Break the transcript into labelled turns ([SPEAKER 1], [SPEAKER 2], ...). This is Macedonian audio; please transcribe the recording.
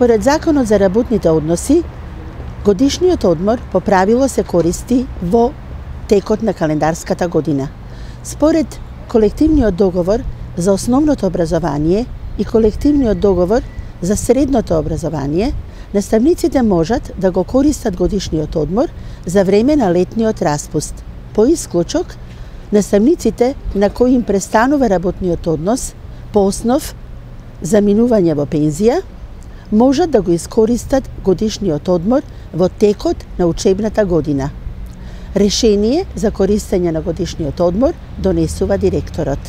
[SPEAKER 1] Според Законот за работните односи, годишниот одмор по правило се користи во текот на календарската година. Според колективниот договор за основното образование и колективниот договор за средното образование, наставниците можат да го користат годишниот одмор за време на летниот распуст. По исклучок, наставниците на кои им престанува работниот однос по основ за минување во пензија, можат да го искористат годишниот одмор во текот на учебната година. Решение за користење на годишниот одмор донесува директорот.